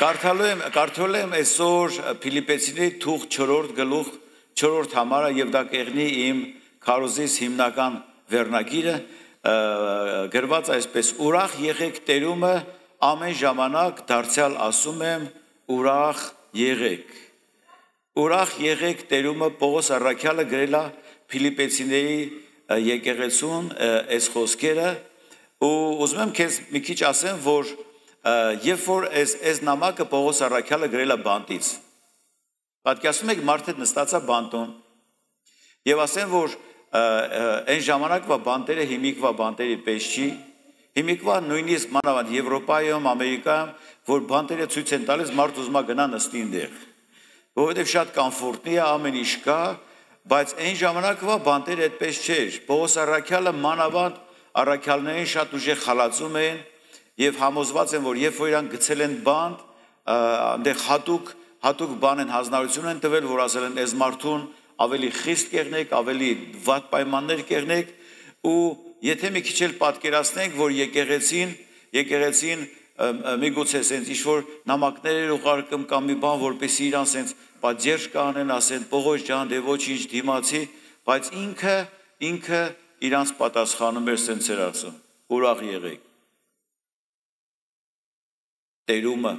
Կարդալու եմ այսօր Փիլիպպեցիների թուղթ 4 գլուխ 4 համարը եւ դա կեղնի իմ քարոզիս հիմնական վերնագիրը գրված այսպես ուրախ եղեք Տերումը ամեն ժամանակ դարձյալ ասում եմ ուրախ եղեք Տերումը Պողոս առաքյալը գրել է Փիլիպպեցիների եկեղեցուն այս խոսքերը ու ուզում եմ քեզ մի քիչ ասեմ որ Երբ որ այս նամակը Պողոս առաքյալը գրել է բանտից, պատկերացնում եք մարդը նստած է բանտում եւ ասեն որ այն ժամանակվա բանտերը հիմիկվա բանտերի պես չի, հիմիկվա նույնիսկ մանավանդ Եվրոպայում, Ամերիկայում, որ բանտերը ցույց են տալիս մարդ ուզում է գնա նստի այնտեղ, որովհետեւ շատ կոմֆորտնի է, ամեն ինչ կա, բայց այն ժամանակվա բանտերը այդպես չէր։ Պողոս առաքյալը մանավանդ առաքյալներին շատ ուժեղ խալացում էին Եվ համոզված են, որ երբ որ իրան գցել են բանտ, այնտեղ հատուկ բան են հանձնարարություն են տվել, որ ասել են այս մարդուն ավելի խիստ կեղնեք, ավելի վատ պայմաններ կեղնեք, ու եթե մի քիչ էլ պատկերացնենք, որ եկեղեցին միգուցե sense ինչ-որ նամակներ ուղարկում կամ մի բան, որպեսզի իրան sense պատժ կանեն, ասեն Պողոս ջան, դե ոչինչ դիմացի, բայց ինքը իրանց պատասխանում էր sense էր ասում, ուրախ եղեք Տերումը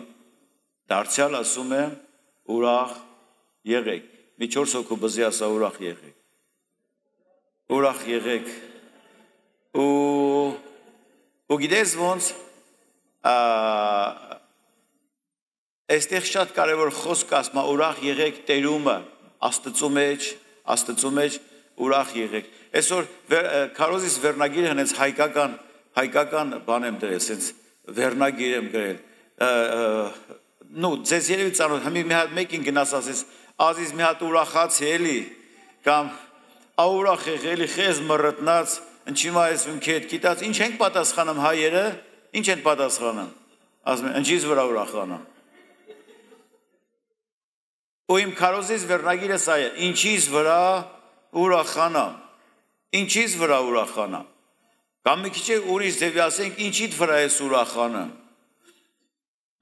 դարձյալ ասում եմ ուրախ եղեք մի 4 հոգու բզի ասա ուրախ եղեք ու գիտես ոնց այստեղ շատ կարևոր խոսք ասում է ուրախ եղեք Տերումը Աստծո մեջ ուրախ եղեք այսօր քարոզիս վերնագիրը հենց հայկական բան եմ դրել sense վերնագիր եմ գրել ձեզ երևի ծանոթ հիմի մի հատ մեկին գնաս ասես ազիզ մի հատ ուրախացի էլի կամ ուրախ եղելի խես մռտնած ինչի՞ այս ինքը գիտած ինչ ենք պատասխանում հայերը ինչ են պատասխանում ասում են ինչից վրա ուրախանամ ու իմ քարոզիս վերնագիրը սա է ինչից վրա ուրախանամ կամ մի քիչ ուրիշ ձևի ասենք ինչիդ վրա ես ուրախանում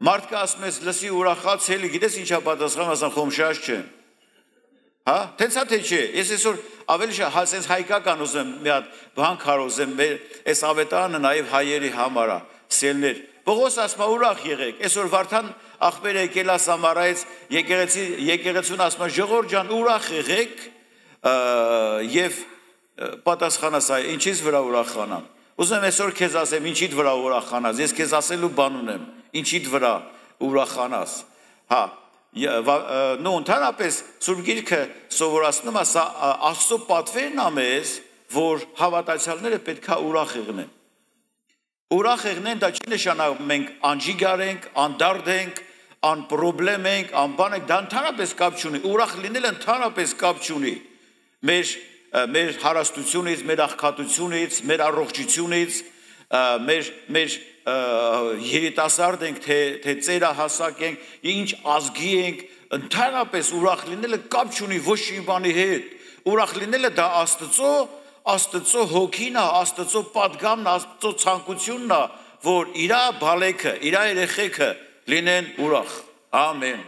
Մարդը ասում ես լսի ուրախաց էլի, գիտես ինչա պատասխան, ասան խոմշաշ չեմ։ Հա, տենց թե չէ։ Ես այսօր ավելի շատ հայկական ուզեմ մի հատ բան քարոզեմ, այս ավետարանը նաև հայերի համար է, սելներ։ Պողոս ասում է ուրախ եղեք։ Այսօր Վարդան աղբերը եկել է Սամարայից, եկեղեցուն ասում է ժողովուրդ ջան, ուրախ եղեք եւ պատասխանը սա է, ինչից վրա ուրախանամ։ Ուզում եմ այսօր քեզ ասեմ, ինչիդ վրա ուրախանաս, ես քեզ ասելու բան ունեմ, ինչիդ վրա ուրախանաս, հա, ընդհանրապես Սուրբ Գիրքը սովորացնում է, սա Աստծո պատվերն է մեզ, որ հավատացյալները պետք է ուրախ եղնեն։ Ուրախ եղնեն, դա չի նշանակում մենք անջիգար ենք, անդարդ ենք, անպրոբլեմ ենք, անբան ենք, դա ընդհանրապես կապ չունի, ուրախ լինելը ընդհանրապես կապ չունի մեր հարստությունից, մեր աղքատությունից, մեր առողջությունից, մեր երիտասարդ ենք, թե ծերահասակ ենք, ինչ ազգի ենք, ընդհանրապես ուրախ լինելը կապ չունի ոչ մի բանի հետ, ուրախ լինելը դա Աստծո հոգին է, Աստծո պատգամն է, Աստծո ցանկությունն է, որ իր բալեքը, իր երեխեքը լինեն ուրախ, ամեն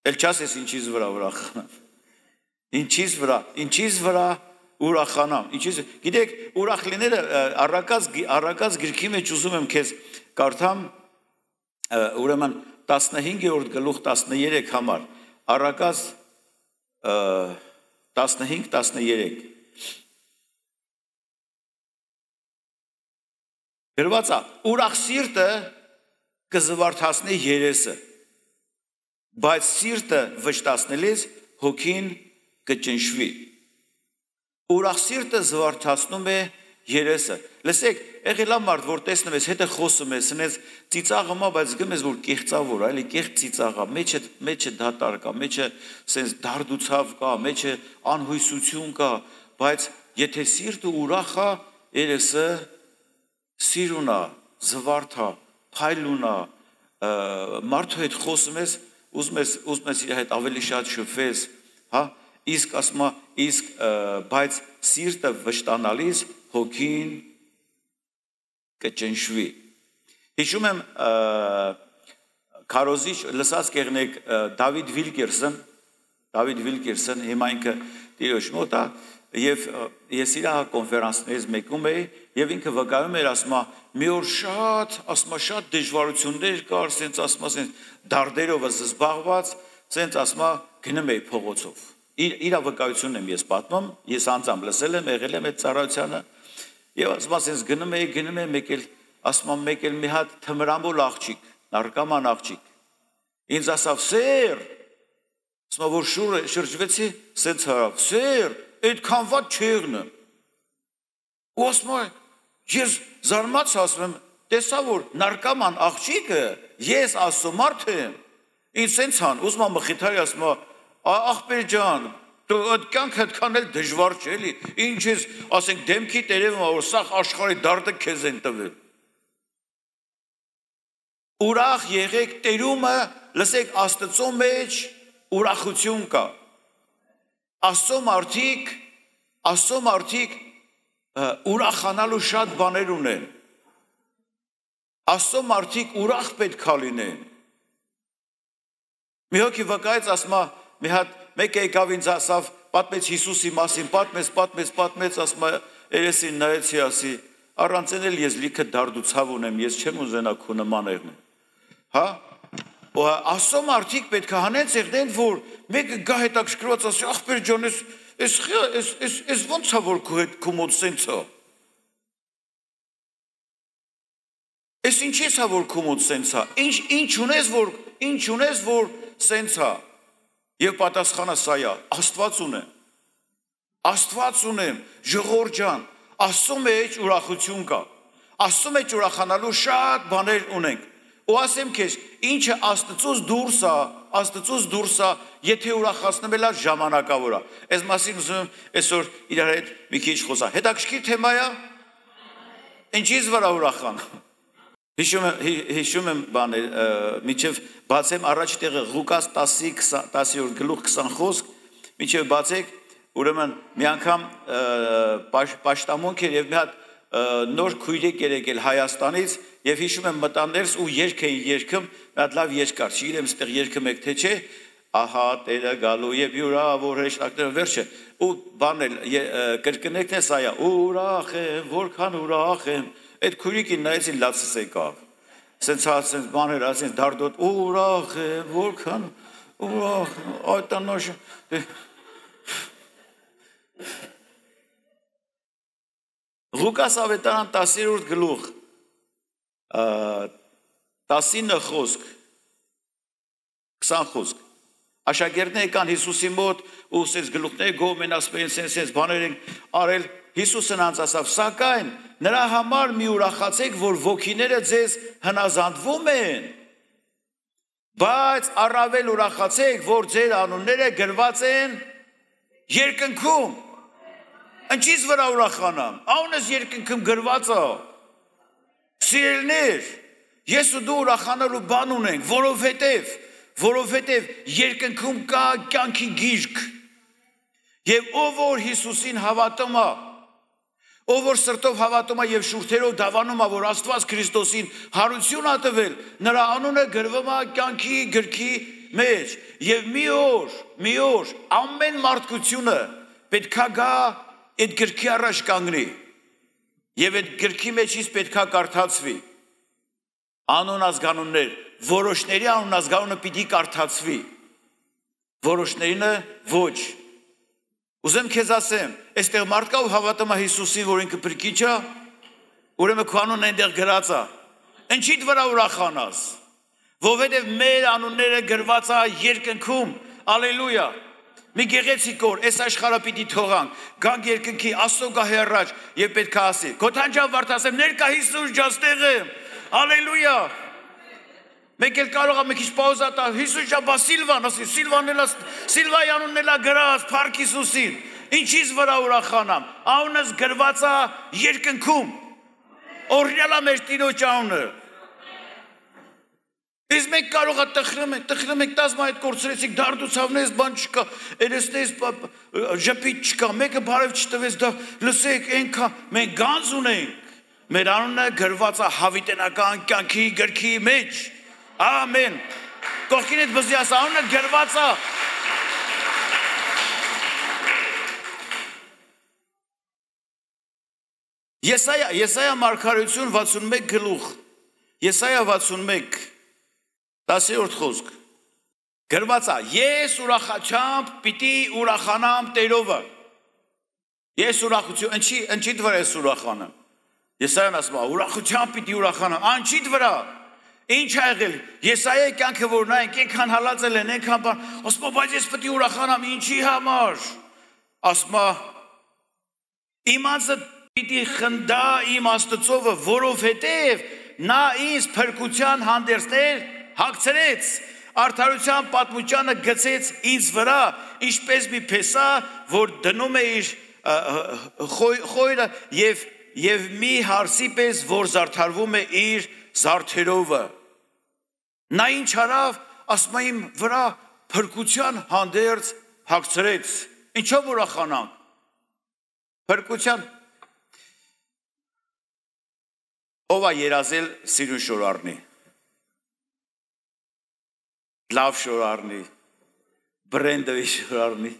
Էլ չասես ինչից վրա ուրախանամ Ինչից վրա ուրախանամ Գիտեք, ուրախ լինելը առակած գրքի մեջ ուզում եմ քեզ կարդամ ուրեմն 15-րդ գլուխ 13 համար առակած 15-13 Գրված է ուրախ սիրտը կզվարթացնի երեսը բայց սիրտը վշտացնելիս հոգին կճնշվի Ուրախ սիրտը զվարթացնում է երեսը Լսեք, եղել է մարդ, որ տեսնում ես, հետը խոսում ես, սնես ծիծաղում է, բայց գում ես, որ կեղծավոր, այլի կեղծ ծիծաղ է, մեջը դատարկ է, մեջը սենց դարդուցավ կա, մեջը անհույսություն կա, բայց եթե սիրտը ուրախ է, երեսը սիրուն է, զվարթ է, փայլուն է, մարդու հետ խոսում ես, ուզում ես իր հետ ավելի շատ շփվես, հա, իսկ ասում է, բայց սիրտը վշտանալիս հոգին կճնշվի։ Հիշում եմ քարոզիչ լսած կեղնեք Դավիթ Վիլկերսն հիմա ինքը տիրոջ մոտ է եւ ես իր կոնֆերանսներից մեկում էի եւ ինքը վկայում էր ասма մի օր շատ դժվարություններ կար ասենց ասма ասենց դարդերով զբաղված ասենց ասма գնում էի փողոցով իր վկայությունն եմ ես պատմում ես անձամբ լսել եմ եղել եմ այդ ծառայությանը եւ ասма ասենց գնում էի մեկ էլ մի հատ թմրամոլ աղջիկ նարկաման աղջիկ ինձ ասավ սեր ասма որ շրջվեցի ասենց հարավ սեր այդքան վատ չեղնը ու ասма ես զարմաց ասում տեսա որ նարկաման աղջիկը ես ասում մարդ եմ ինձ սենց հան ուզում եմ մխիթարի ասում աղբեր ջան դու այդ կյանքը այդքան էլ դժվար չէ էլի ինչ ես ասենք դեմքի տերևում որ սա աշխարհի դարդը քեզ են տվել ուրախ եղեք տերումը լսեք Աստծո մեջ ուրախություն կա Աստծո մարդիկ ուրախանալու շատ բաներ ունեն Աստծո մարդիկ ուրախ պետք է լինեն մի հոգի վկայեց ասма մի հատ մեկ եկավ ինձ ասավ պատմեց Հիսուսի մասին պատմեց ասма երեսին նայեցի ասի առանց էլ ես լիքը դարդուցավ ունեմ ես չեմ ուզենա քո նման եղնել հա Աստծո մարդիկ պետք է հանեն ցեղնեն որ մեկը գա հետաքրքրված ասի ախպեր ջան ես ոնց է որ քո հետ քո մոտ սենց է Ես ինչի՞ է որ քո մոտ սենց է ինչ ունես որ սենց է եւ պատասխանը սա է Աստված ունեմ ժողովուրդ ջան Աստծո մեջ ուրախություն կա Աստծո մեջ ուրախանալու շատ բաներ ունենք ու ասեմ քեզ ինչը Աստծուց դուրս է եթե ուրախացնում էլ ժամանակավոր է այս մասին ուզում եմ այսօր իրար հետ մի քիչ խոսալ հետաքրքիր թեմա է ինչի՞ց վրա ուրախան հիշում եմ բաներ միջև բացեմ առաջ տեղը Ղուկաս 10:20 խոսք միջև բացեք ուրեմն մի անգամ պաշտամունք էր եւ մի հատ նոր քույրիկ եկել Հայաստանից եւ հիշում եմ մտան ներս ու երգ էին երգում մի հատ լավ երգ կար չգիտեմ ստեղ երգը մեկ թե չէ ահա Տերը գալու եւ յուրավոր հեշտակները վերջը ու բանել կրկնեկն է սա է ուրախ եմ որքան ուրախ եմ այդ քույրիկին նայեցին լացս եկավ սենց բաներ ասենց դարդոտ ուրախ եմ որքան ուրախ այդ անոշ Ղուկաս ավետարան 10-րդ գլուխ 19 խոսք 20 խոսք Աշակերտները եկան Հիսուսի մոտ ու ասեց գլուխները գոմեն ասում են սենց բաներ են արել Հիսուսն անց ասավ սակայն նրա համար մի ուրախացեք որ ոգիները ձեզ հնազանդվում են բայց առավել ուրախացեք որ ձեր անունները գրված են երկնքում Ինչի՞ց վրա ուրախանամ Անունս երկնքում գրված է Սիրելիներ ես ու դու ուրախանալու բան ունենք որովհետև երկնքում կա կյանքի գիրք եւ ով որ Հիսուսին հավատում է ով որ սրտով հավատում է եւ շուրթերով դավանում է որ Աստված Քրիստոսին հարություն է տվել նրա անունը գրվում է կյանքի գրքի մեջ եւ մի օր ամեն մարդկությունը պետքա գա այդ գրքի առաջ կանգնի եւ այդ գրքի մեջից պետքա կարդացվի անուն ազգանուններ որոշների անուն ազգանունը պիտի կարդացվի որոշներինը ոչ ուզեմ քեզ ասեմ այստեղ մարդկա ու հավատում է Հիսուսին որ ինքը փրկիչ է ուրեմն քո անունն այնտեղ գրած է ինչի՞ վրա ուրախանաս որովհետև մեր անունները գրված է երկնքում ալելույա Մի գեղեցիկ օր, այս աշխարհը պիտի թողանք, գանք երկնքի Աստծո գահի առաջ եւ պետք է ասի. Գոթանջան վարդասեմ, ներկա Հիսուս ջան ստեղ եմ։ Հալելույա։ Մեկ էլ կարող է մի քիչ պաուզա տա, Հիսուս ջան, բա Սիլվան, ասի, Սիլվայի անունն էլա գրած, Փառք Հիսուսին։ Ինչից վրա ուրախանամ։ Անունս գրված է երկնքում։ Օրհնյալ է մեր Տիրոջ անունը։ Ես մենք կարող է տխրում ենք տազմա այդ կորցրեցիք, դարդուցավնես բան չկա, երեսնես ժպիտ չկա, մեկը բարև չտվեց դա, լսեք ենքա, մենք գանձ ունենք, մեր անունը գրված է հավիտենական կյանքի գրքի մեջ։ Ամեն։ Կողքինդ բզի ասա, անունը գրված է։ Եսայա մարգարեություն 61 գլուխ, Եսայա 61, 10-րդ խոսք, գրված է, ես ուրախությամբ պիտի ուրախանամ Տերովը, ես ուրախություն, ընչիդ վրա ես ուրախանամ, Եսայան ասում է, ուրախությամբ պիտի ուրախանամ, անչիդ վրա, ինչ է եղել, Եսայայի կյանքը որ նայենք, ենքան հալածել են, ենքան բան, ասում է, բայց ես պիտի ուրախանամ, ինչի համար, ասում է, իմ անձը պիտի խնդա իմ Աստծովը, որովհետև նա ինձ փրկության հանդերձներ հագցրեց, արդարության պատմությանը գցեց ինձ վրա, ինչպես մի փեսա, որ դնում է իր խոյրը եւ մի հարսի պես, որ զարդարվում է իր զարդերովը։ Նա ինչ արավ, ասում է իմ վրա փրկության հանդերձ հագցրեց։ Ինչով ուրախանանք։ Փրկության ով է երազել սիրուն շոր առնի, լավ շոր առնի, բրենդովի շոր առնի,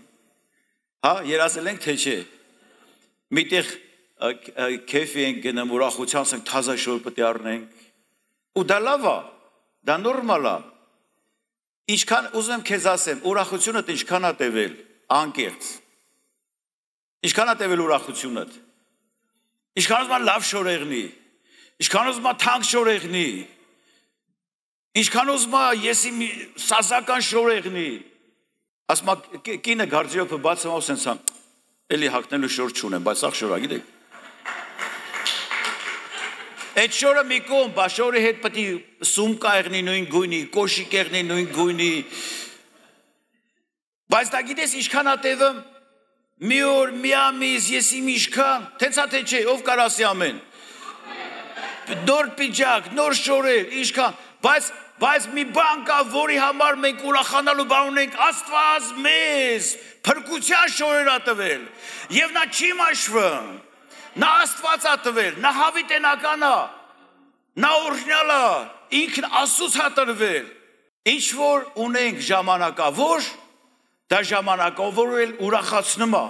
հա, երազել ենք թե չէ, միտեղ կեֆի ենք գնում, ուրախության ենք թազա շոր պտի առնենք, ու դա լավ է, դա նորմալ է, ինչքան ուզում եմ քեզ ասեմ, ուրախությունդ ինչքան է տևել, անկեղծ, ինչքան է տևել ուրախությունդ, ինչքան ուզում է լավ շոր եղնի, ինչքան ուզում է թանկ շոր եղնի, ինչքան ուզում է եսի սազական շոր եղնի, ասում է կինը գարդյոպը բացում ասեն սան, էլի հակնելու շոր չունեմ, բայց սաղ շորա, գիտեք։ Այդ շորը մի կողմ, բա շորի հետ պտի սումկա եղնի նույն գույնի, կոշիկ եղնի նույն գույնի, բայց դա գիտես ինչքան է տևում, մի օր, մի ամիս, եսի միշքան, թենցա թե չէ, ով կար ասի ամեն, նոր պիջակ, նոր շորեր, ինչքան, բայց մի բան կա, որի համար մենք ուրախանալու բան ունենք, Աստված մեզ փրկության շորեր ա տվել, եւ նա չի մաշվում, նա Աստված ա տվել, նա հավիտենական ա, նա օրիգինալ ա, ինքն Աստծուց ա տրվել, ինչ որ ունենք ժամանակավոր, դա ժամանակավոր էլ ուրախացնում ա,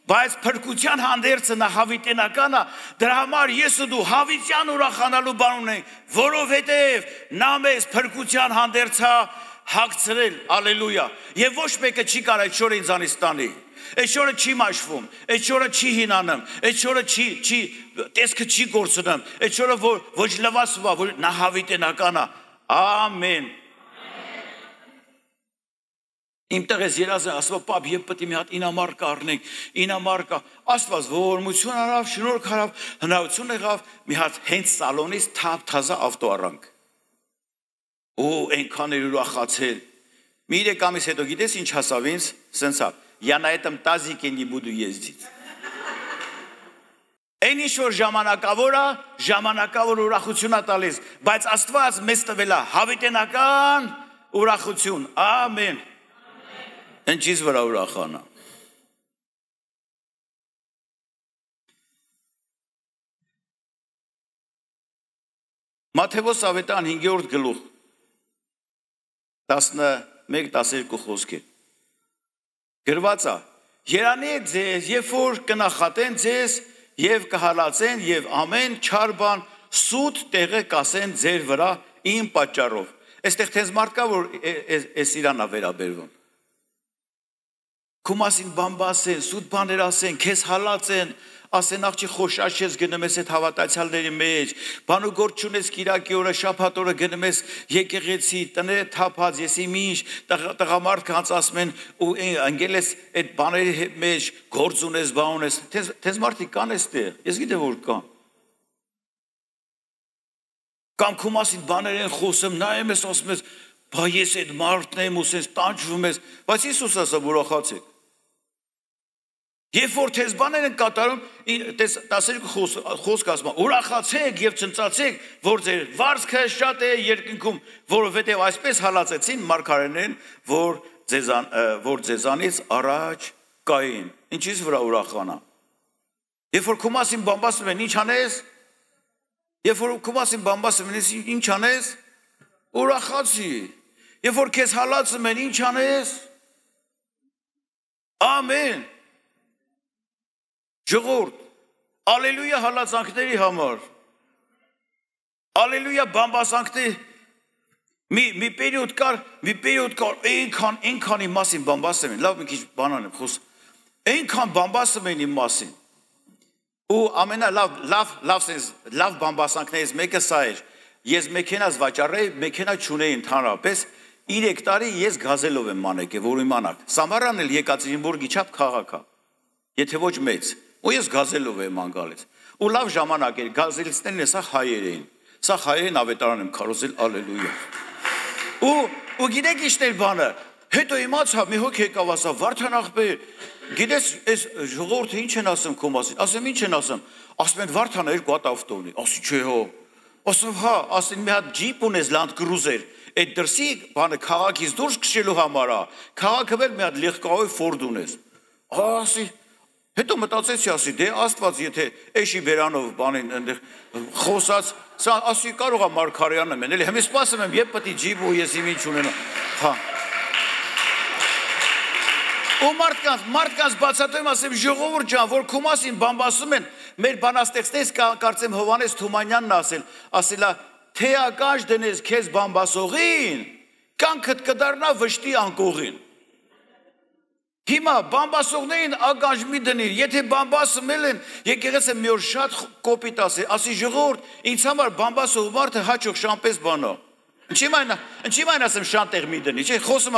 բայց փրկության հանդերձը նա հավիտենական է, դրա համար ես ու դու հավիտյան ուրախանալու բան ունենք, որովհետև նա մեզ փրկության հանդերձ հագցրել, ալելույա, եւ ոչ մեկը չի կարող այդ շորը ինձանից տանի, այդ շորը չի մաշվում, այդ շորը չի հինանում, այդ շորը չի տեսքը չի գործնում, այդ շորը ոչ լվացվա, որ նա հավիտենական է, ամեն։ Իմ տեղես երազը ասվա պապ եվ պտի մի հատ ինամարկա առնենք, ինամարկա, աստված ողորմություն արավ, շնորհք արավ, հնարություն եղավ, մի հատ հենց սալոնից թափ թազա ավտո առանք։ Ու այնքան էր ուրախացել։ Մի 3 ամիս հետո գիտես ինչ հասավ ինձ, սենց ա, я на этом тазике не буду ездить։ Այն ինչ որ ժամանակավոր է, ժամանակավոր ուրախություն է տալիս, բայց Աստված մեզ տվել է հավիտենական ուրախություն։ Ամեն։ Ինչից վրա ուրախանա։ Մատթեոս ավետարան 5-րդ գլուխ 11-12 խոսքեր։ Գրված է. Երանի է ձեզ, երբ որ կնախատեն ձեզ եւ կհալածեն եւ ամեն չար բան սուտ տեղը կասեն ձեր վրա իմ պատճառով։ Այստեղ թեզ մարդ կա որ էս իրանա վերաբերվում։ Քո մասին բան բասեն, սուտ բաներ ասեն, քեզ հալածեն, ասեն աղջի խոշաշ ես գնում ես այդ հավատացյալների մեջ, բան ու գործ չունես կիրակի օրը, շաբաթ օրը գնում ես եկեղեցի, տները թափած, եսի ինչ, տղամարդ կանց ասում են ու ընկել ես այդ բաների մեջ, գործ ունես, բան ունես, թեզ մարդիկ կան էստեղ, ես գիտեմ որ կան։ Կամ քո մասին բաներ են խոսում, նայում ես ասում ես, բա ես այդ մարդն եմ ու սենց տանջվում ես, բայց Հիսուս ասա ուրախացեք։ Երբ որ թեզ բաներ են կատարում, 12 խոսք ասում է, ուրախացեք եւ ցնծացեք, որ ձեր վարձքը շատ է երկնքում, որովհետեւ այսպես հալածեցին մարգարեներն, որ ձեզանից առաջ կային։ Ինչից վրա ուրախանա։ Երբ որ քո մասին բամբասում են, ինչ անես, Երբ որ քո մասին բամբասում ես, ինչ անես, ուրախացի։ Երբ որ քեզ հալածում են, ինչ անես, ամեն, ժողովուրդ, ալելույա հալածանքների համար, ալելույա բամբասանքների, մի պերիոդ կար, այնքանի մասին բամբասում են, լավ մի քիչ բանան եմ խոսում, այնքան բամբասում են իմ մասին, ու լավ բամբասանքներից մեկը սա էր, ես մեքենաս վաճառեի, մեքենա չունեի ընդհանրապես, 3 տարի ես գազելով եմ մանեկել, որ իմանաք, Սամարանն էլ Եկատերինբուրգի չափ քաղաք է, եթե ոչ մեծ, ու ես գազելով եմ անգալից, ու լավ ժամանակ էր, գազելիստներն սա հայեր էին, սա հայերեն ավետարան եմ քարոզել, ալելույա, ու գիտեք իշտեր բանը, հետո իմացա, մի հոգ եկավ ասա, Վարդան աղբեր, գիտես, այս ժողովուրդը ինչ են ասում քո մասին, ասեմ ինչ են ասում, ասում են Վարդանը 2 հատ ավտո ունի, ասի չէ հո, ասում հա, ասին մի հատ ջիպ ունես Land Cruiser, այդ դրսի բանը քաղաքից դուրս քշելու համար է, քաղաքը վել մի հատ լեգկայով Ford ունես, ասի, հետո մտածեցի ասի, դե Աստված եթե էշի բերանով բանին այնտեղ խոսած, սա ասի կարող է Մարգարյանը մեն, էլի հիմա սպասում եմ, երբ պետք է ջիպ ու ես ինչ ունենամ, հա ու մարդկանց բացատրում ասեմ ժողովուրդ ջան, որ քո մասին բամբասում են, մեր բանաստեղծներից կարծեմ Հովհաննես Թումանյանն ասելա, թե ակաշ դնես քեզ բամբասողին, կյանքդ կդառնա վշտի անկողին։ Հիմա բամբասողներին ակաշ մի դնի, եթե բամբասում են, եկեղեցը մի օր շատ կոպիտ ասի ժողովուրդ, ինձ համար բամբասող մարդը հաճող շամպես բանո։ Ինչի մայն ասեմ շանտեղ մի դնի, չէ, խոսում,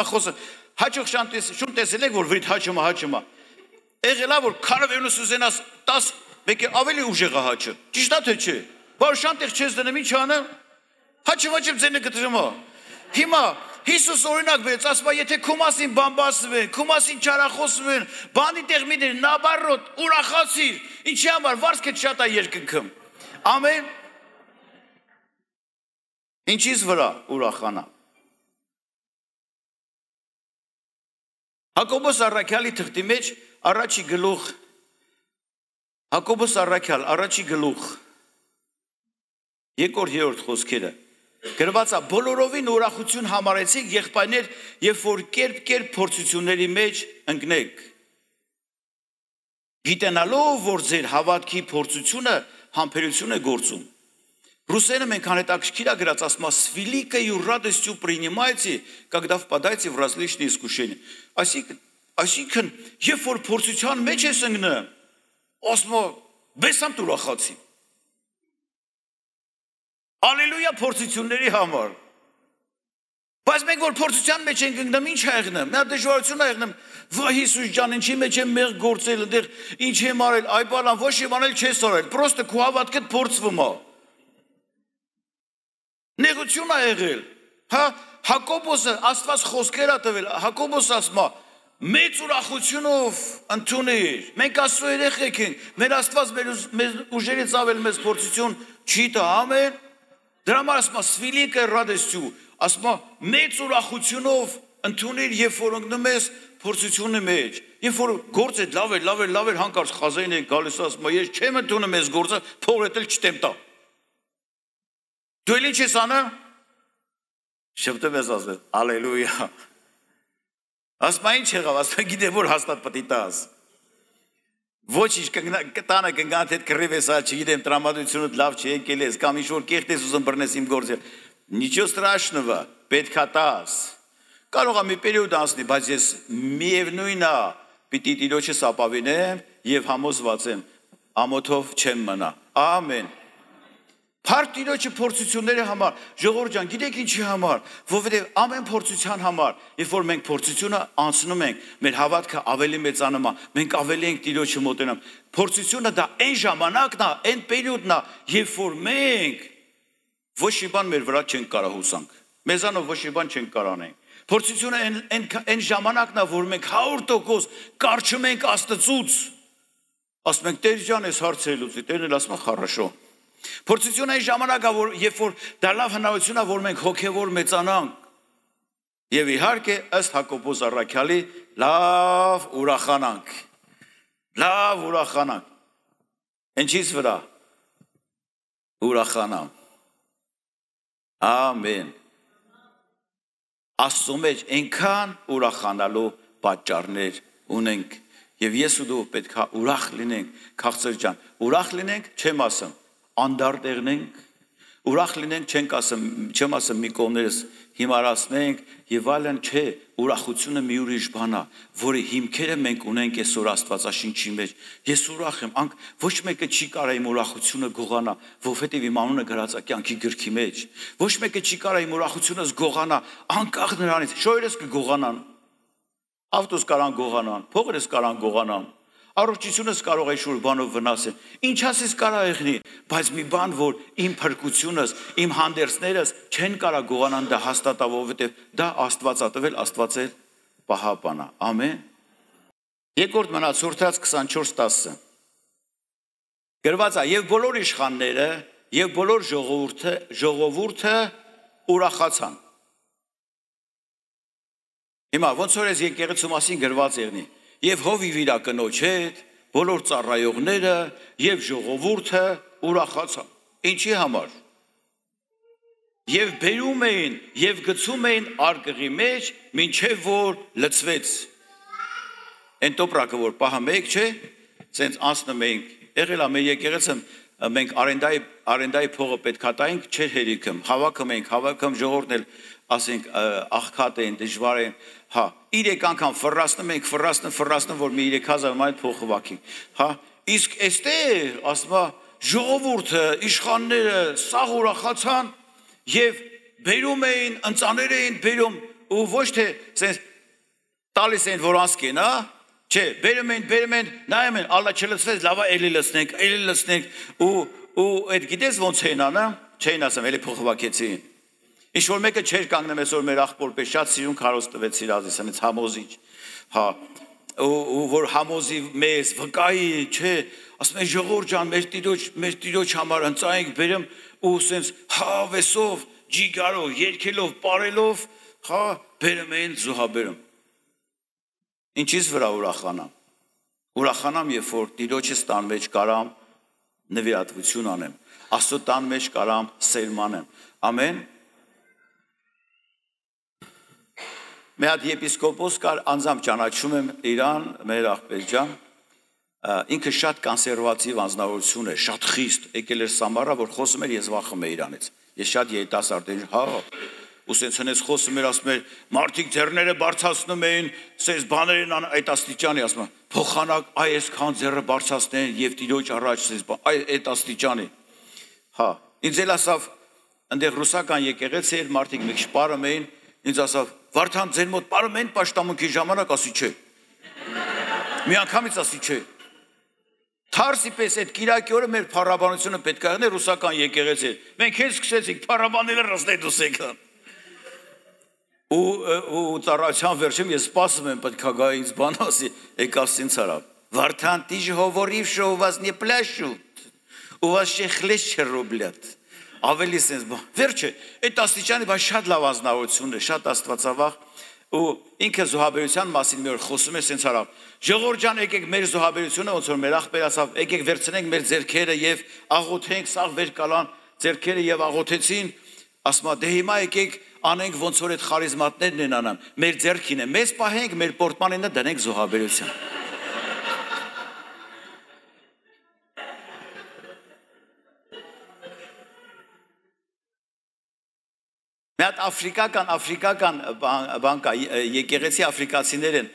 հաճող շուն տեսել եք, որ վրիտ հաճում է, եղելա, որ քարավենուս ուզենաս 10 մեկը ավելի ուժեղ է հաճը, ճիշտ է թե չէ, որ շանտեղ չես դնում, ինչ անեմ, հաճում ձենը կտրում է, հիմա Հիսուս օրինակ բերեց, ասում է, եթե քո մասին բամբասում են, քո մասին չարախոսում են, բանի տեղ մի դեր, նաբարոտ, ուրախացիր, ինչի համար, վարձքդ շատ է երկնքում, ամեն, ինչից վրա ուրախանա։ Հակոբոս առաքյալի թղթի մեջ առաջի գլուխ, Հակոբոս առաքյալ առաջի գլուխ, 2-3 խոսքերը, գրված է բոլորովին ուրախություն համարեցիք եղբայրներ, երբ որ կերպ փորձությունների մեջ ընկնեք, գիտենալով, որ ձեր հավատքի փորձությունը համբերություն է գործում։ Русское մենք հետաքրքիր գրած ասում է «С великою радостью принимайте, когда впадаете в различные искушения». Այսինքն, երբ որ փորձության մեջ ես ընկնում, ասում է «Բեսամ ուրախացի»։ Ալելույա փորձությունների համար։ Բայց մենք որ փորձության մեջ ենք ընկնում, ինչ է եղնում։ Նա դժվարություն է եղնում։ Վայ Հիսուս ջան, ինչի մեջ եմ մեղ գործել, այնտեղ ինչ եմ արել, այ բանան, ոչ իմ անել չես արել։ Պրոստը քո հավատքդ փորձվում է։ Նեղություն է եղել։ Հա, Հակոբոսը Աստված խոսքեր է տվել։ Հակոբոս ասում է. «Մեծ ուրախությունով ընդունիր։ Մենք Աստծո երեխեք ենք։ Մեր Աստված մեր ուժերից ավել մեզ փորձություն չի տա, ամեն»։ Դրա համար ասում է «С великой радостью», ասում է «Մեծ ուրախությունով ընդունիր, երբ որ ընկնում ես փորձությունի մեջ։ Երբ որ գործը լավ էր, հանկարծ խազային է գալիս, ասում է ես չեմ ընդունում այս գործը, փողրետել չտեմ տա։ Դու էլ ինչ ես անում։ Շփտում ես ասել, ալելույա։ Ասում է ինչ եղավ, ասում է գիտեմ որ հաստատ պետք է տաս։ Ոչ ինչ տանը կգանդ հետ կռիվ ես, չգիտեմ տրամադրությունը լավ չի եկել ես, կամ ինչ որ կեղտ ես ուզում բռնես իմ գործը։ Ничего страшного, պետք է տաս։ Կարող է մի պերիոդ անցնի, բայց ես միևնույն է, պիտի Տիրոջս ապավինեմ եւ համոզված եմ, ամոթով չեմ մնա։ Ամեն։ Փառք Տիրոջը փորձությունների համար, ժողովուրդ ջան, գիտեք ինչի համար, որովհետև ամեն փորձության համար, երբ որ մենք փորձությունը անցնում ենք, մեր հավատքը ավելի մեծանում է, մենք ավելի ենք Տիրոջը մոտենամ։ Փորձությունը դա այն ժամանակն է, այն պերիոդն է, երբ որ մենք ոչ մի բան մեր վրա չենք կարող հուսանք։ Մեզանով ոչ մի բան չենք կարող անենք։ Փորձությունը այն ժամանակն է, որ մենք 100% կարճում ենք Աստծուց։ Ասում ենք Տեր ջան, ես հարցեր լուծի, Տերն էլ ասում է «Խառաշո»։ Փորձությունը այն ժամանակը, երբ որ դա լավ հնարավորություն է, որ մենք հոգևոր մեծանանք։ Եվ իհարկե, ըստ Հակոբոս առաքյալի, լավ ուրախանանք։ Լավ ուրախանանք։ Ինչից վրա։ ուրախանամ։ Ամեն։ Աստծո մեջ այնքան ուրախանալու պատճառներ ունենք եւ ես ու դու պետք է ուրախ լինենք, քաղցր ջան, ուրախ լինենք, չեմ ասում, անդարդ եղնենք, ուրախ լինենք, չեմ ասում մի կողմերս հիմարացնենք եւ այլն, չէ, ուրախությունը մի ուրիշ բան է, որի հիմքերը մենք ունենք այսօր Աստվածաշնչի մեջ։ Ես ուրախ եմ, ոչ մեկը չի կարա իմ ուրախությունը գողանա, որովհետեւ իմ անունը գրած է կյանքի գրքի մեջ։ Ոչ մեկը չի կարա իմ ուրախությունս գողանա, անկախ նրանից, շոյերս կգողանան, ավտոս կարան գողանան, փողերս կարան գողանան, առողջությունս կարող է շուր բանով վնասել։ Ինչ ասես կարա եղնի, բայց մի բան, որ իմ փրկությունս, իմ հանդերձներս չեն կարա գողանան դա հաստատա, որովհետև դա Աստված ա տվել, Աստված էլ պահապան է։ Ամեն։ Երկրորդ մնացորդած 24:10 գրված է, եւ բոլոր իշխանները եւ բոլոր ժողովուրդը ուրախացան։ Հիմա ոնց որ ես եկեղեցու մասին գրված եղնի, եւ հովիվ իր կնոջ հետ, բոլոր ծառայողները եւ ժողովուրդը ուրախացան։ Ինչի համար։ Եվ բերում էին եւ գցում էին արկղի մեջ, մինչեւ որ լցվեց։ Այն տոպրակը որ պահա մեկ չէ, սենց անցնում ենք, եղել է մեր եկեղեցում, մենք արենդայի փողը պետքա տայինք, չէր հերիքում, հավաքում ժողովուրդն էլ ասենք աղքատ են, դժվար են, հա, 3 անգամ ֆռռացնում ենք, ֆռռացնում, որ մի 3000 մանեթ փող խվակենք, հա, իսկ այստեղ ասма ժողովուրդը, իշխանները սաղ ուրախացան եւ բերում էին, ընծաներ էին բերում ու ոչ թե sense տալիս են որ անցկեն, հա, չէ, բերում են, նայում են, ալլա չլցվեց, լավա էլի լցնենք ու այդ գիտես ոնց են անը, չէին ասեմ, էլի փող խվակեցին։ Ինչ որ մեկը չէր կանգնում այսօր մեր աղբոր պես շատ սիրուն քարոզ տվեց իրազիս, այնց համոզիչ, հա, ու որ համոզի մեզ վկայի, չէ, ասում են ժողովուրդ ջան, մեր տիրոջ համար ընծայինք բերեմ ու սենց հավեսով, ջիգարով, երգելով, պարելով, հա, բերում են զոհաբերում։ Ինչից վրա ուրախանամ։ Ուրախանամ, երբ որ տիրոջս տան մեջ կարամ նվիրատվություն անեմ, Աստծո տան մեջ կարամ սերմանեմ։ Ամեն։ Մի հատ եպիսկոպոս կար, անձամբ ճանաչում եմ իրան, մեր աղբեր ջան, ինքը շատ կոնսերվատիվ անձնավորություն է, շատ խիստ, եկել էր Սամարա, որ խոսում էր, ես վախում եմ իրանից։ Ես շատ երիտասարդ եմ, հա, ու սենց հենց խոսում էր, ասում էր, մարդիկ ձեռները բարձրացնում էին, սենց բաներ են այդ աստիճանի, ասում եմ, փոխանակ այսքան ձեռը բարձրացնեն եւ տիրոջ առաջ սենց այդ աստիճանի։ Հա, ինձ էլ ասավ, այնտեղ ռուսական եկեղեցի էր, մարդիկ մի քիչ պարում էին, ինձ ասավ, Վարդան ձեր մոտ պարում են պաշտամունքի ժամանակ, ասի չէ։ Մի անգամից ասի չէ։ Թարսի պես այդ կիրակի օրը մեր փառաբանությունը պետք է եղնի ռուսական եկեղեցի։ Մենք հենց սկսեցինք փառաբանել ռուսնեդուս եկան։ Ու ծառայության վերջում ես սպասում եմ, պետք է գա ինձ բան ասի, եկավ ինձ արա։ Վարդան ты же говорил, что у вас не пляшут, у вас ще хлеще рублят։ Ավելի sense բան։ Վերջը, այդ աստիճանի բայց շատ լավ անձնավորություն է, շատ աստվածավախ ու ինքը զոհաբերության մասին մի օր խոսում է sense արավ։ Ժողովուրդ ջան, եկեք մեր զոհաբերությունը ոնց որ մեր աղբեր ասավ, եկեք վերցնենք մեր ձեռքերը եւ աղոթենք, սաղ վեր կալան ձեռքերը եւ աղոթեցին, ասма դե հիմա եկեք անենք ոնց որ այդ խարիզմատներն են անում։ Մեր ձեռքին է, մեզ պահենք, մեր պորտմանենը դնենք զոհաբերության։ Մի հատ աֆրիկական բան կա, եկեղեցի աֆրիկացիներ են,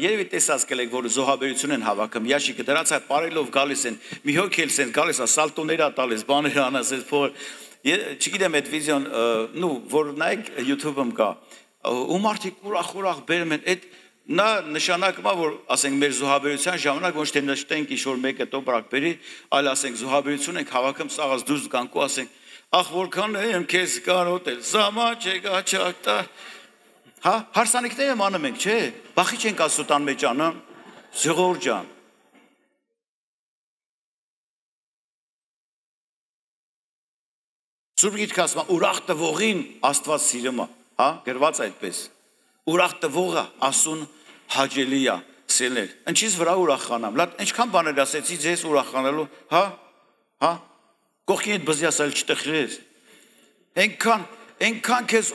երևի տեսած կլեք, որ զոհաբերություն են հավաքում, ящիկը դրանց այդ պարելով գալիս են, մի հոգ էլ սենց գալիս է, սալտոներ է տալիս, բաներ անես, այդ փողը, չգիտեմ այդ վիդեոն, որ նայեք YouTube-ում կա, ու մարդիկ ուրախ բերում են, այդ նա նշանակում է, որ ասենք մեր զոհաբերության ժամանակ ոչ թե նշտենք ինչ-որ մեկը տոպրակ բերի, այլ ասենք զոհաբերություն ենք հավաքում, սաղած դուրս գանք ու ասենք Ախ որքան եմ քեզ կարոտել, զամա չեկա չակտա։ Հա, հարսանիքներ եմ անում ենք, չէ։ Բախի չենք Աստծո մեջ անում, ժողովուրդ ջան։ Սուրբ Գիրքը ասում է, ուրախ տվողին Աստված սիրում է, հա, գրված այդպես։ Ուրախ տվողը Աստուն հաճելի է սիրել։ Ինչից վրա ուրախանամ։ Լավ, ինչքան բաներ ասեցի ձեզ ուրախանալու, հա։ Կողքին այդ բզի ասել չտխրես։ Այնքան քեզ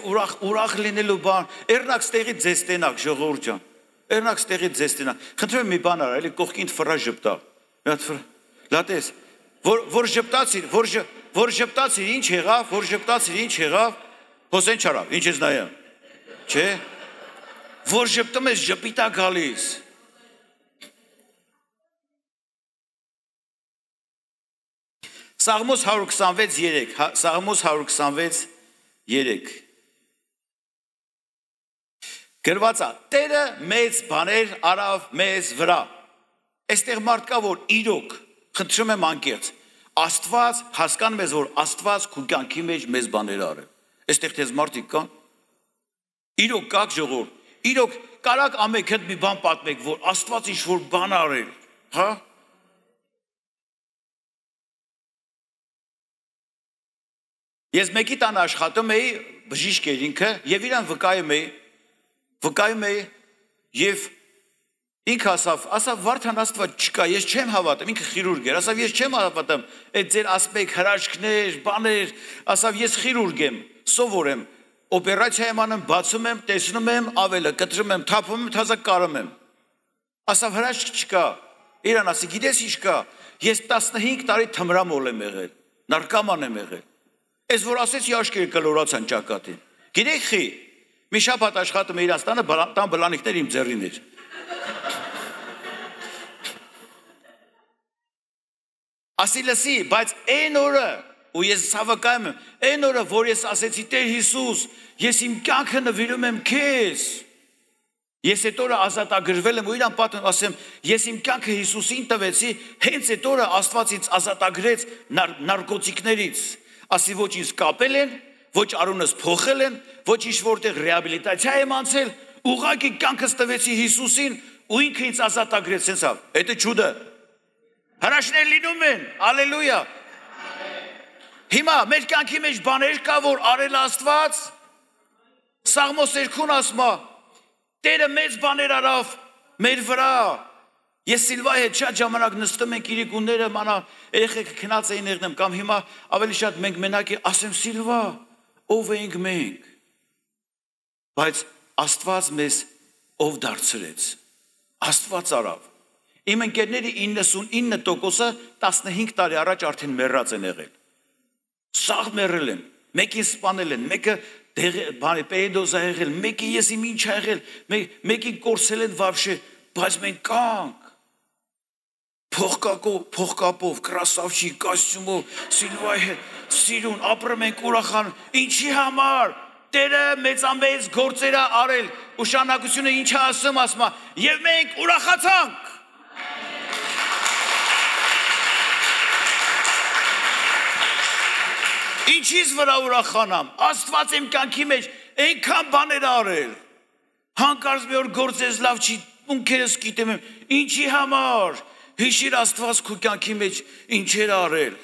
ուրախ լինելու բան, երնակ ստեղից ձեզ տենակ, ժողովուրդ ջան։ Երնակ ստեղից ձեզ տենակ։ Խնդրում եմ մի բան արա, էլի կողքին ֆրա ժպտա։ Մի հատ ֆրա։ Լատես, որ ժպտացիր, ինչ եղավ, Հոսեն չարավ, ինչ ես նայում։ Չէ։ Որ ժպտում ես ժպիտա գալիս։ Սաղմոս 126:3 գրված է Տերը մեծ բաներ արավ մեզ վրա։ Այստեղ մարդ կա որ իրոք խնդրում եմ անկեղծ Աստված հասկանում ես որ Աստված քո կյանքի մեջ մեծ բաներ արել։ Այստեղ դες մարդիկ կան։ Իրոք կաք ժողովուրդ։ Իրոք կարակ ամեք հետ մի բան պատմեք որ Աստված ինչ որ բան արել, հա։ Ես մեկի տան աշխատում էի բժիշկ էր ինքը եւ իրան վկայում էի եւ ինքը ասավ Վարդան Աստված չկա, ես չեմ հավատում, ինքը խիրուրգ էր, ասավ ես չեմ հավատում, այդ ձեր ասպեկ հրաշքներ, բաներ, ասավ ես խիրուրգ եմ, սովոր եմ, օպերացիա եմ անում, բացում եմ, տեսնում եմ, ավելը կտրում եմ, թափում եմ, թազակ կարում եմ։ Ասավ հրաշք չկա։ Իրան ասի գիտես ինչ կա, ես 15 տարի թմրամոլ եմ եղել, նարկոման եմ եղել։ Ես որ ասեցի աշկերը կլորացան ճակատին։ Գիտեք խի, մի շաբաթ աշխատում եմ իրաց տանը, տան բլանիկներ իմ ձեռին էր։ Ասի լսի, բայց այն օրը, ու ես հավակայում եմ, այն օրը, որ ես ասեցի Տեր Հիսուս, ես իմ կյանքը նվիրում եմ քեզ։ Ես այդ օրը ազատագրվել եմ ու իրան պատմեմ, ասեմ, ես իմ կյանքը Հիսուսին տվեցի, հենց այդ օրը Աստված ինձ ազատագրեց նարկոտիկներից։ Ասի ոչ ինձ կապել են, ոչ արունս փոխել են, ոչ ինչ որտեղ ռեաբիլիտացիա եմ անցել, ուղղակի կյանքս տվեցի Հիսուսին ու ինքը ինձ ազատագրեց, սենցավ։ Դա ճուդը։ Հրաշքներ լինում են, ալելույա։ Հիմա մեր կյանքի մեջ բաներ կա, որ արել Աստված, Սաղմոս 2-ն ասում է, Տերը մեծ բաներ արավ մեր վրա։ Ես Սիլվայի հետ շատ ժամանակ նստում ենք իրիկունները, մանա երեխեքը քնած էին եղնեմ, կամ հիմա ավելի շատ մենք մենակ ասեմ Սիլվա, ով ենք մենք։ Բայց Աստված մեզ ով դարձրեց։ Աստված արավ։ Իմ ընկերների 99%-ը 15 տարի առաջ արդեն մեռած են եղել։ Սաղ մեռել են, մեկին սպանել են, մեկը պերեդոզ ա եղել, մեկի ես իմ ինչ ա եղել, մեկին կորսել են վաբշե, բայց մենք կանք։ Փողկապով, կրասավչի, կոստյումով, Սիլվայի հետ, սիրուն, ապրում ենք ուրախան, ինչի համար, Տերը մեծամեծ գործեր ա արել, ու շարունակությունը ինչ ա ասում, ասում ա, եւ մենք ուրախացանք։ Ինչից վրա ուրախանամ, Աստված իմ կյանքի մեջ այնքան բաներ արել, հանկարծ մի օր գործես լավ չի, ունքերս գիտեմ եմ, ինչի համար, հիշիր Աստված քո կյանքի մեջ ինչեր արել,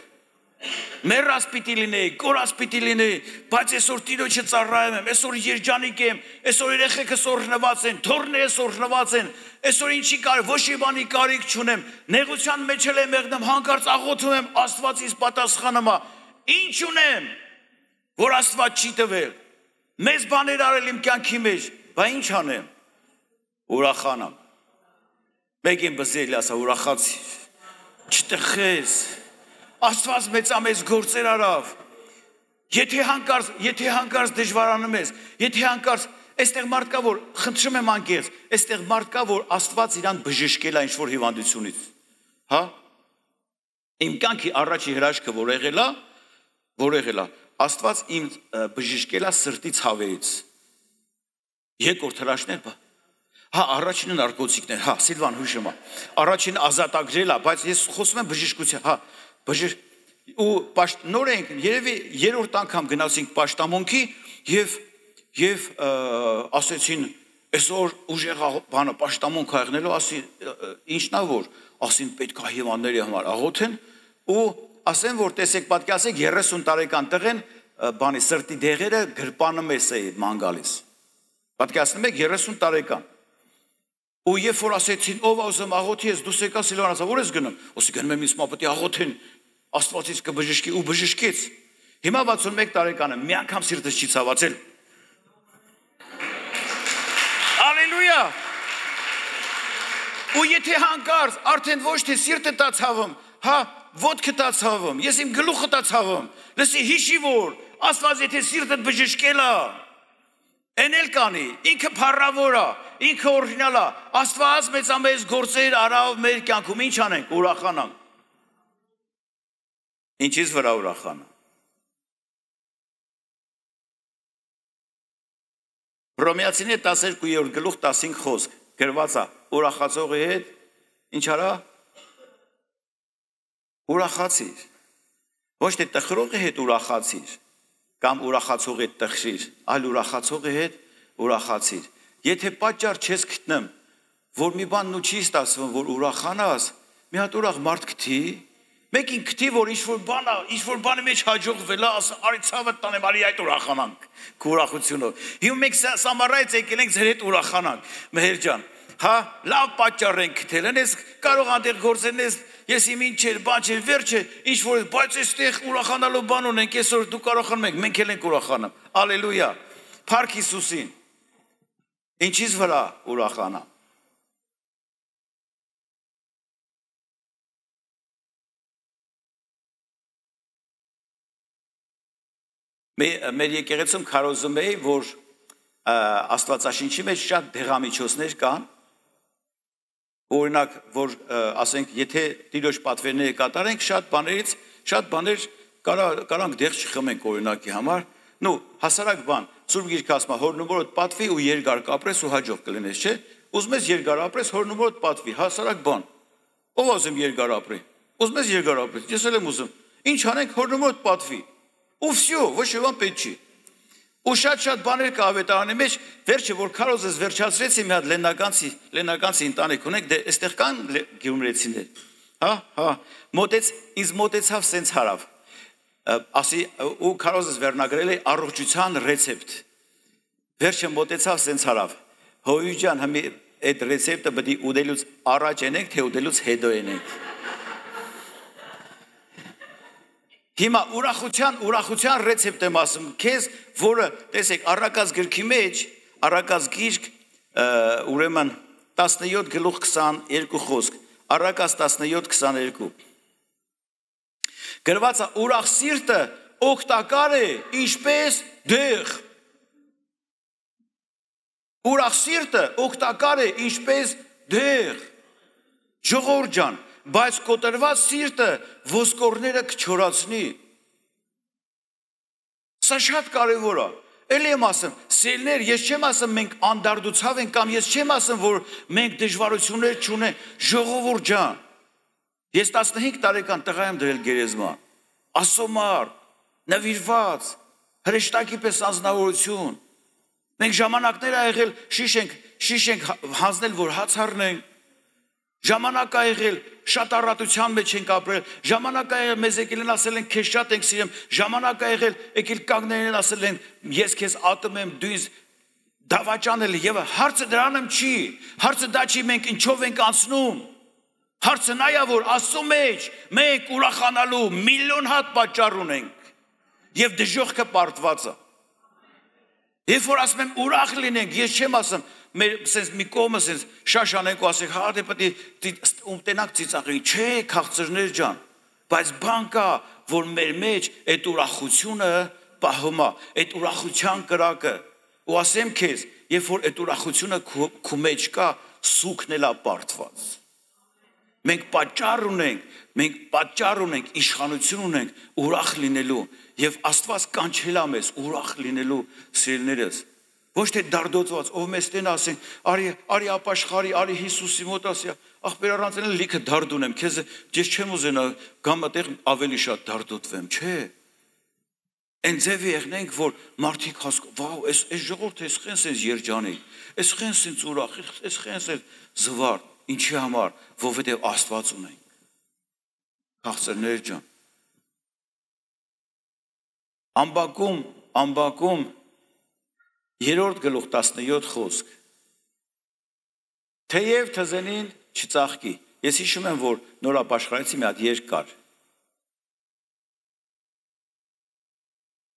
մեռած պիտի լինեի, կորած պիտի լինեի, բայց այսօր Տիրոջը ծառայում եմ, այսօր երջանիկ եմ, այսօր երեխեքս օրհնված են, թոռներս օրհնված են, այսօր ինչի կար, ոչ մի բանի կարիք չունեմ, նեղության մեջ եմ եղնում, հանկարծ աղոթում եմ, Աստված ինձ պատասխանում է, ինչ ունեմ, որ Աստված չի տվել, մեծ բաներ արել իմ կյանքի մեջ, բա ինչ անեմ, ուրախանամ, մեկին բզել ասա ուրախացի, չտխես, Աստված մեծամեծ գործեր արավ, եթե հանկարծ դժվարանում ես, եթե հանկարծ, այստեղ մարդ կա, որ խնդրում եմ անկեղծ, այստեղ մարդ կա, որ Աստված իրան բժշկել է ինչ-որ հիվանդությունից, հա, իմ կյանքի առաջի հրաշքը, որ եղել է, Աստված իմ բժշկել է սրտի ցավերից, երկրորդ հրաշքներ բա, հա, առաջինը նարկոտիկներ, հա, Սիլվան հուշում է, առաջինը ազատագրել է, բայց ես խոսում եմ բժշկության, հա, ու նոր ենք, երևի երրորդ անգամ գնացինք պաշտամունքի և ասեցին, այսօր ուժեղ բանը պաշտամունք հայտնելու, ասի, ինչն է որ, ասին պետք է հիվանդների համար աղոթեն, ու ասեն, որ տեսեք պատկասեք 30 տարեկան տղեն, բանի սրտի դեղերը գրպանում ես է ման գալիս, պատկասնում եք 30 տարեկան, ու երբ որ ասեցին, ով ասում աղոթի ես, դուս եկա Սիլվան ասա, որ ես գնում, ասի գնում եմ ինձ մապտի աղոթեն, Աստվածից կբժշկի ու բժշկեց։ Հիմա 61 տարեկան եմ, մի անգամ սիրտս չի ցավացել։ Ալելույա։ Ու եթե հանկարծ արդեն ոչ թե սիրտը տա ցավում, հա, ոտքը տա ցավում, ես իմ գլուխը տա ցավում, լսի հիշի որ Աստված եթե սիրտդ բժշկել է, էնել կանի, ինքը փառավոր է, ինքը օրիգինալ է, Աստված մեծամեծ գործեր արավ մեր կյանքում, ինչ անենք, ուրախանանք։ Ինչից վրա ուրախանանք։ Հռոմեացիների 12-րդ գլուխ 15 խոսք գրված է ուրախացողի հետ ինչ արա ուրախացիր ոչ թե տխրողի հետ ուրախացիր կամ ուրախացողի հետ տխրիր այլ ուրախացողի հետ ուրախացիր եթե պատճառ չես գտնեմ որ մի բան ու չի ստացվում որ ուրախանաս մի հատ ուրախ մարդ գտի մեկին գտի որ ինչ որ բանի մեջ հաջողվել է ասա արի ցավը տանեմ արի այդ ուրախանանք քո ուրախությունով հիմա մենք սամարայից եկել ենք ձեր հետ ուրախանանք մեհեր ջան հա լավ պատճառ ենք գտել ես կարող անտեղ գործեն ես իմ ինչ էր բան չէ վերջը ինչ որ բայց այստեղ ուրախանալու բան ունենք այսօր դու կարողանում եք մենք էլ ենք ուրախանալ ալելույա փառք Հիսուսին ինչից վրա ուրախանա մեր եկեղեցում քարոզում էի որ Աստվածաշնչի մեջ շատ դեղամիջոցներ կան օրինակ որ ասենք եթե Տիրոջ պատվերները կատարենք շատ բաներ կարանք դեղ չխմենք օրինակի համար նու հասարակ բան Սուրբ Գիրքը ասում է հորնումորդ պատվի ու երկար կապրես ու հաջող կլինես չէ ուզում ես երկար ապրես հորնումորդ պատվի հասարակ բան ով ասում երկար ապրի ուզում ես երկար ապրես ես էլ եմ ուզում ինչ անենք հորնումորդ պատվի ու վсё ոչ մի բան պետք չի ու շատ բաներ կա ավետարանի մեջ վերջը որ քարոզես վերջացրեցի մի հատ լենականցի ընտանիք ունենք դե այստեղ կան գյումրեցիներ հա ինձ մոտեցավ սենց հարավ ասի ու քարոզես վերնագրել է առողջության ռեցեպտ վերջը մոտեցավ սենց հարավ հոյու ջան հիմա այդ ռեցեպտը պետք է ուտելուց առաջ ենենք թե ուտելուց հետո ենենք Հիմա ուրախության ռեցեպտ եմ ասում քեզ, որը տեսեք առակաց գրքի մեջ, առակաց գիրք ուրեմն 17 գլուխ 22 խոսք, առակաց 17:22 գրված է ուրախ սիրտը օգտակար է ինչպես դեղ ուրախ սիրտը օգտակար է ինչպես դեղ ժողովուրդ ջան բայց կոտրված սիրտը ոսկորները կչորացնի Սա շատ կարևոր է Էլի եմ ասում սելներ ես չեմ ասում մենք անդարդուցավ ենք կամ ես չեմ ասում որ մենք դժվարություններ չունենք ժողովուրդ ջան Ես 15 տարեկան տղա եմ դրել գերեզման ասոմար նվիրված հրեշտակի պես անձնավորություն մենք ժամանակներ ա եղել շիշ ենք հանձնել որ հաց առնենք Ժամանակ ա եղել շատ առատության մեջ ենք ապրել ժամանակ ա եղել մեզ եկել են ասել են քեզ շատ ենք սիրում ժամանակ ա եղել եկել կանգնել են ասել են ես քեզ ատում եմ դու ինձ դավաճանել եւ հարցը դրանım չի հարցը դա չի մենք ինչով ենք անցնում հարցը նա է որ Աստծո մեջ մենք ուրախանալու միլիոն հատ պատճառ ունենք եւ դժոխքը պարտված է Երբ որ ասում եմ ուրախ լինենք ես չեմ ասում մեր sense մի կողմը sense շաշանենք ու ասենք հա դե պետք է ունտենակ ծիծաղի չէ քաղցրներ ջան բայց բան կա որ մեր մեջ այդ ուրախությունը պահում է այդ ուրախության կրակը ու ասեմ քեզ երբ որ այդ ուրախությունը քո մեջ կա սուքն էլա պարտված մենք պատճառ ունենք իշխանություն ունենք ուրախ լինելու եւ Աստված կանչել է մեզ ուրախ լինելու սիրելիներս ոչ թե դարդոծված ով մեզ տեն ասեն արի ապաշխարի արի Հիսուսի մոտ ասի ախպեր առանց էլ լիքը դարդ ունեմ քեզ ես չեմ ուզենա գամ այդտեղ ավելի շատ դարդոտվեմ չէ Այն ձևի եղնենք որ մարդիկ վաու այս ժողովուրդը այս խենց էս երջանի այս խենց ինձ ուրախ այս խենց էս զվար ինչի համար որովհետեւ Աստված ունենք քաղցրներ ջան Ամբակում 3-րդ գլուխ 17 խոսք Թեև թզենին չծաղկի ես հիշում եմ որ նոր ապաշխարեցի մի հատ երգ կար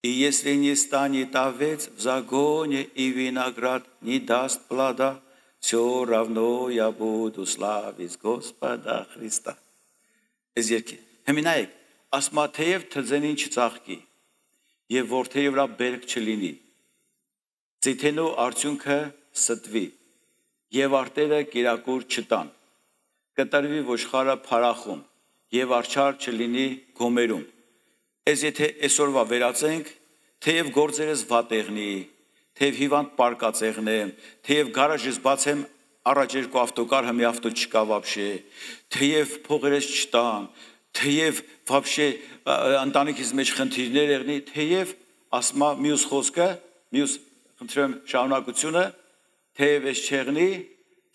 И если не станет овец в загоне и виноград не даст плода, все равно я буду славить Господа Христа. Эзերքի Հեմինայեք ասма թեև թզենին չծաղկի եւ որդերի վրա բերք չլինի Ձիթենու արդյունքը ստվի եւ արտերը կերակուր չտան կտրվի ոչխարը փարախում եւ արչար չլինի գոմերում Այս եթե այսօրվա վերացենք թեև գործերս վատեղնի թեև հիվանդ պարկածեղնեմ թեև գարաժից բացեմ Առաջ երկու ավտոկար համի ավտո չկա вообще թեև փողերս չտան թեև вообще ընտանիքից մեջ խնդիրներ եղնի թեև ասма մյուս խոսքը մյուս խնդրեմ շարունակությունը թեև ես չեղնի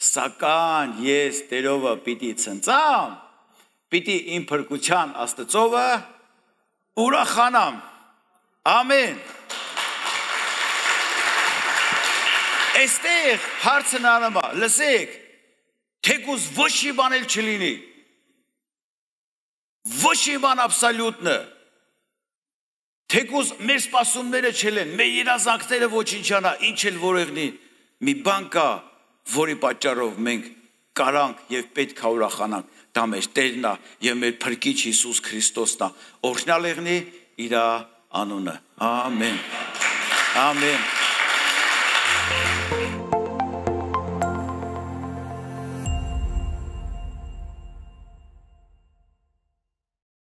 սակայն ես Տերովը պիտի ցնծամ պիտի իմ փրկության Աստծովը ուրախանամ ամեն Այստեղ հարցն անում է, լսեք, թեկուզ ոչ մի բան էլ չլինի, ոչ մի բան աբսոլյուտնը, թեկուզ մեր սպասումները չլեն, մեր երազանքները ոչնչանա, ինչ էլ որեղնի, մի բան կա, որի պատճառով մենք կարանք և պետք է ուրախանանք, դա մեր Տերն է և մեր Փրկիչ Հիսուս Քրիստոսն է, օրհնյալ եղնի իր անունը, ամեն, ամեն.